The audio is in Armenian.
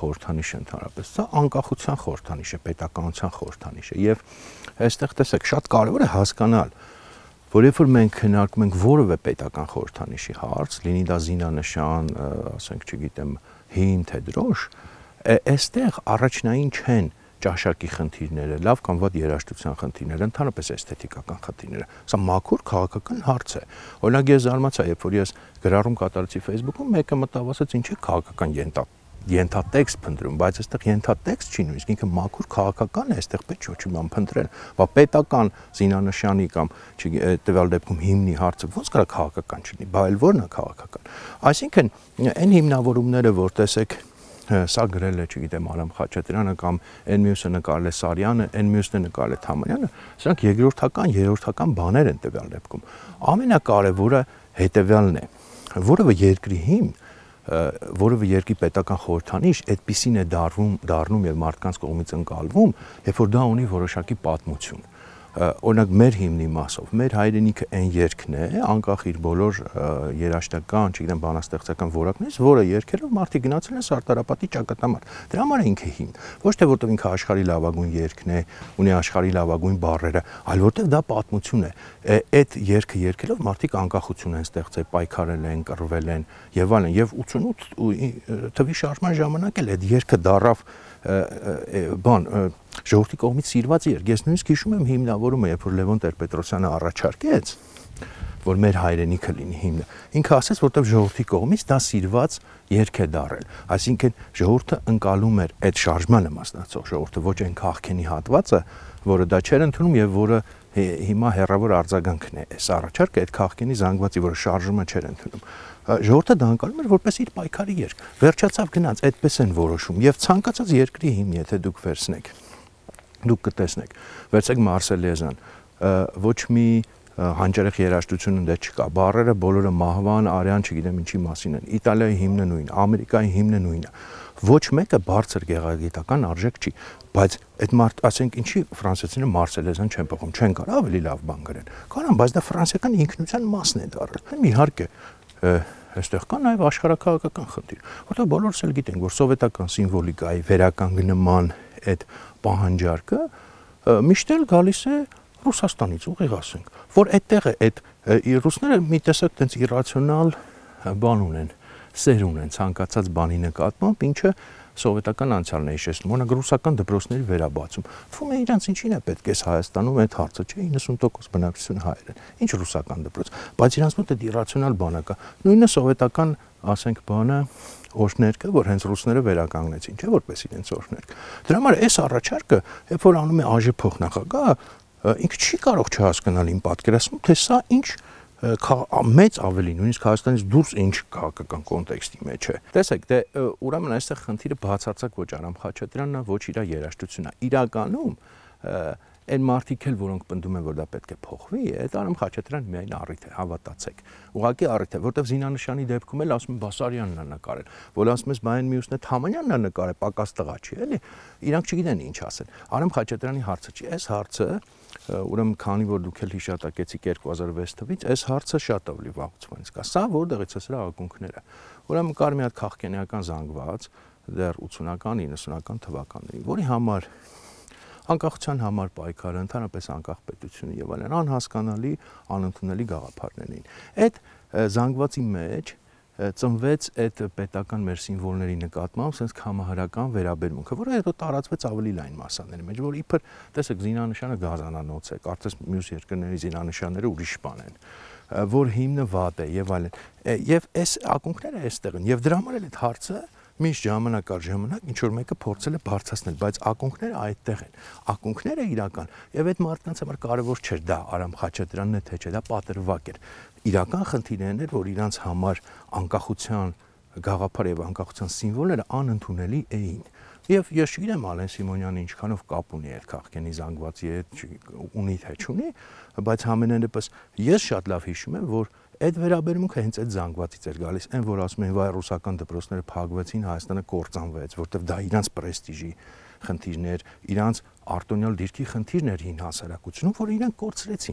խորհրդանիշը ընդհանրապես, սա անկախության խորհրդանիշ է, պետականության խորհրդանիշ է եւ այստեղ տեսեք շատ կարեւոր է հասկանալ, որ երբ որ մենք քննարկում ենք որևէ պետական խորհրդանիշի հարց, լինի դա զինանշան, ասենք, չգիտեմ, հին թե դրոշ, այստեղ առաջնային չեն ճաշակի խնդիրները, լավ կամ վատ երաժշտության խնդիրները, ընդհանրապես էսթետիկական խնդիրները։ Սա մաքուր քաղաքական հարց է։ Օրինակ ես զարմացա, երբ որ ես գրառում կատարեցի Facebook-ում, մեկը մտավ ասաց, ինչ է քաղաքական ենթատեքստ փնտրում, բայց այստեղ ենթատեքստ չի նույնիսկ ինքը մաքուր քաղաքական է, այստեղ պետք չէ բան փնտրել։ Բա պետական զինանշանի կամ տվյալ դեպքում հիմնի հարցը ոնց կարա քաղաքական չլինի, բա այլ ո՞րն է քաղաքական։ Այսինքն այն հիմնավորումները, որ տեսեք սա գրել է, չգիտեմ, Արամ Խաչատրյանը կամ այն մյուսը նկարել է Սարյանը, այն մյուսն է նկարել է Թամանյանը, սրանք երկրորդական, երրորդական բաներ են տվյալ դեպքում։ Ամենակարևորը հետևյալն է, որևէ երկրի հիմն, որևէ երկրի պետական խորհրդանիշ այդպիսին է դառնում եւ մարդկանց կողմից ընկալվում, երբ որ դա ունի որոշակի պատմություն։ Օրինակ մեր հիմնի մասով, մեր հայրենիքը այն երկն է, անկախ իր բոլոր երաժշտական, չգիտեմ, բանաստեղծական որակներից, որը երկերով մարդիկ գնացել են Սարտարապատի ճակատամարտ։ Դրա համար է ինքը հիմն, ոչ թե որտեղ ինքը աշխարհի լավագույն երկն է, ունի աշխարհի լավագույն բառերը, այլ որտեղ դա պատմություն է։ Այդ երկը երկելով մարդիկ անկախություն են ստեղծել, պայքարել են, կռվել են եւ այլն, եւ 88 թվի շարժման ժամանակ էլ այդ երկը դարավ ժողովրդի կողմից սիրված երգ։ Ես նույնիսկ հիշում եմ հիմնավորումը, երբ որ Լևոն Տեր-Պետրոսյանը առաջարկեց, որ մեր հայրենիքը լինի հիմնը։ Ինքը ասաց, որտեղ ժողովրդի կողմից դա սիրված երգ է դարել։ Այսինքն ժողովուրդը ընկալում էր այդ շարժմանը մասնակցող ժողովուրդը, ոչ այն քաղաքենի հատվածը, որը դա չէր ընդունում եւ որը հիմա հերավոր արձագանքն է։ Այս առաջարկը այդ քաղաքենի զանգվածի, որը շարժումը չէր ընդունում։ Ժողովուրդը դա ընկալում էր որպես իր պայքարի երգ։ Վերջացավ գնաց, այդպես են որոշում եւ ցանկացած երկրի հիմն, եթե դուք վերցնեք, դուք կտեսնեք, վերցեք Մարսելեզան, ոչ մի հանճարեղ երաժշտություն ընդ չկա, բառերը բոլորը մահվան, արյան, չգիտեմ ինչի մասին են, Իտալիայի հիմնը նույնն, Ամերիկայի հիմնը նույնն է, ոչ մեկը բարձր գեղագիտական արժեք չի, բայց այդ մարդ, ասենք, ինչի ֆրանսիացիները Մարսելեզան չեն փոխում, չեն կարող ավելի լավ բան գրեն, կարան, բայց դա ֆրանսիական ինքնության մասն է դառել, իհարկե, այստեղ կա նաև աշխարհաքաղաքական խնդիր, որտեղ բոլորս էլ գիտենք, որ սովետական սիմվոլիկայի վերականգնման այդ պահանջարկը միշտ էլ գալիս է Ռուսաստանից, ուղիղ ասենք, որ այդտեղ է այդ ռուսները մի տեսակ տենց իրացիոնալ բան ունեն, սեր ունեն ցանկացած բանի նկատմամբ, ինչը սովետական անցյալն է հիշեցնում, օրինակ ռուսական դպրոցների վերաբացում։ Թվում է իրանց ինչին է պետք է Հայաստանում այդ հարցը, չէ, 90% բնակչությունը հայեր են։ Ինչ ռուսական դպրոց, բայց իրանց մոտ այդ իրացիոնալ բանը կա։ Նույնը սովետական, ասենք, բանը օրհներկը, որ հենց ռուսները վերականգնեցին, չէ, որպես իրենց օրհներկ։ Դրա համար այս առաջարկը, երբ որ անում է ԱԺ փոխնախագահը, ինքը չի կարող չհասկանալ իմ պատկերացնում, թե սա ինչ մեծ ավելի, նույնիսկ Հայաստանից դուրս ինչ քաղաքական կոնտեքստի մեջ է։ Տեսեք, դե ուրեմն այստեղ խնդիրը բացարձակ ոչ Արամ Խաչատրյանն է, ոչ իր երաժշտությունն է։ Իրականում այն մարդիկ էլ, որոնք պնդում են, որ դա պետք է փոխվի, այդ Արամ Խաչատրյանը միայն առիթ է, հավատացեք։ Ուղղակի առիթ է, որտեղ զինանշանի դեպքում էլ ասում են Բասարյանն է նկարել, որ ասում ես բայն մյուսն է Թամանյանն է նկարել, պակաս տղա չի, էլի։ Իրանք չգիտեն ինչ ասել։ Արամ Խաչատրյանի հարցը չի, այս հարցը, ուրեմն քանի որ դուք էլ հիշատակեցիք 2006 թվականից, այս հարցը շատ ավելի վաղուց կա։ Սա որտեղից է սրա ակունքները։ Ուրեմն կար մի հատ քաղաքենիական զանգված դեռ 80-ական, 90-ական թվականներին, որի համար անկախության համար պայքարը, ընդհանրապես անկախ պետությունը եւ այլն անհասկանալի, անընդունելի գաղափարներ էին։ Այդ զանգվածի մեջ ծնվեց այդ պետական մեր սիմվոլների նկատմամբ sense համահարական վերաբերմունքը, որը հետո տարածվեց ավելի լայն մասաների մեջ, որ իբր տեսեք զինանշանը գազանանոց է, կարծես մյուս երկրների զինանշանները ուրիշ բան են, որ հիմնը վատ է եւ այլն։ Եվ այս ակունքները այստեղ են եւ դրա համար էլ այդ հարցը միշտ ժամանակ առ ժամանակ ինչ որ մեկը փորձել է բարձրացնել, բայց ակունքները այդտեղ են։ Ակունքները իրական եւ այդ մարդկանց համար կարեւոր չէր դա Արամ Խաչատրյանն է թե չէ, դա պատրվակ էր։ Իրական խնդիրներն էր, որ իրանց համար անկախության գաղափար եւ անկախության սիմվոլները անընդունելի էին։ Եվ ես չգիտեմ Ալեն Սիմոնյանը ինչքանով կապ ունի այդ քաղաքենի զանգվածի հետ, ունի թե չունի, բայց համենայն դեպս ես շատ լավ հիշում եմ, որ այդ վերաբերմունքը հենց այդ զանգվածից էր գալիս, այն որ ասում են վայ ռուսական դպրոցները փակվեցին, Հայաստանը կործանվեց, որտեղ դա իրանց պրեստիժի խնդիրներ, իրանց արտոնյալ դիրքի խնդիրներ հին հասարակությունում, որ իրանք կորցրեցին։